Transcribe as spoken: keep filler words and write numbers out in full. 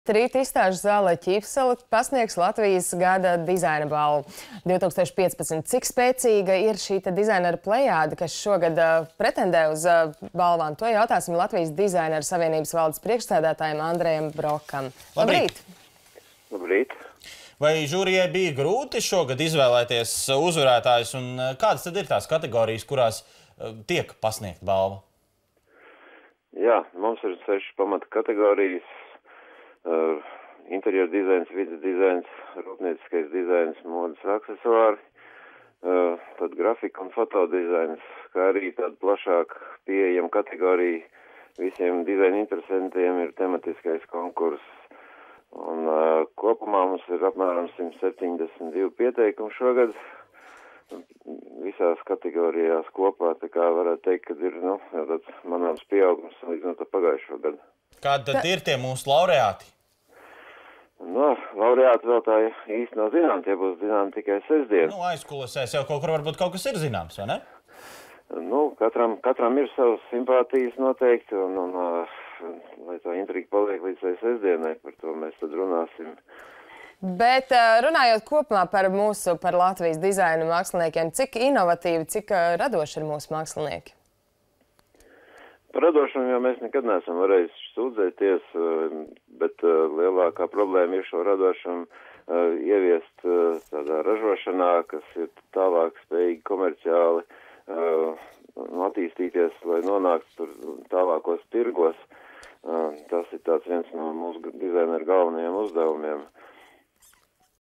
Rīt izstāžu zālē Ķīpsele pasniegs Latvijas gada dizaina balvu divi tūkstoši piecpadsmit. Cik spēcīga ir šī dizainera plejāde, kas šogad uh, pretendē uz uh, balvām? To jautāsim Latvijas dizaineru savienības valdes priekšsēdētājiem Andrejam Brokam. Labrīt! Labrīt! Vai žūrijai bija grūti šogad izvēlēties uzvarētājus, un kādas tad ir tās kategorijas, kurās uh, tiek pasniegt balva? Jā, mums ir sešas pamata kategorijas. Uh, interjeru dizains, vidas dizains, rūpnieciskais dizains, modes aksesuāri, uh, tad grafika un fotodizains, kā arī tāda plašāk pieejama kategorija visiem dizaina interesantiem ir tematiskais konkurss. Un uh, kopumā mums ir apmēram simt septiņdesmit divi pieteikumi šogad visās kategorijās kopā, tā kā varētu teikt, ka ir, nu, tāds manāms pieaugums līdz no tā pagājušo gadu. Kādi tad ir tie mūsu laureāti? Nu, laureāti vēl tā īsti nav zinām, tie būs zinām tikai sestdien. Nu, aizkulisēs jau kaut kur varbūt kaut kas ir zināms, vai ne? Nu, katram, katram ir savas simpātijas noteikti, un, un uh, lai tā intriga paliek līdz tai sestdienai, par to mēs tad runāsim. Bet runājot kopumā par mūsu, par Latvijas dizaina māksliniekiem, cik inovatīvi, cik radoši ir mūsu mākslinieki? Par radošumu jau mēs nekad neesam varējuši sūdzēties, bet lielākā problēma ir šo radošumu ieviest tādā ražošanā, kas ir tālāk spējīgi komerciāli attīstīties, lai nonāktu tur tālākos tirgos. Tas ir tāds viens no mūsu dizaineru galvenajiem uzdevumiem.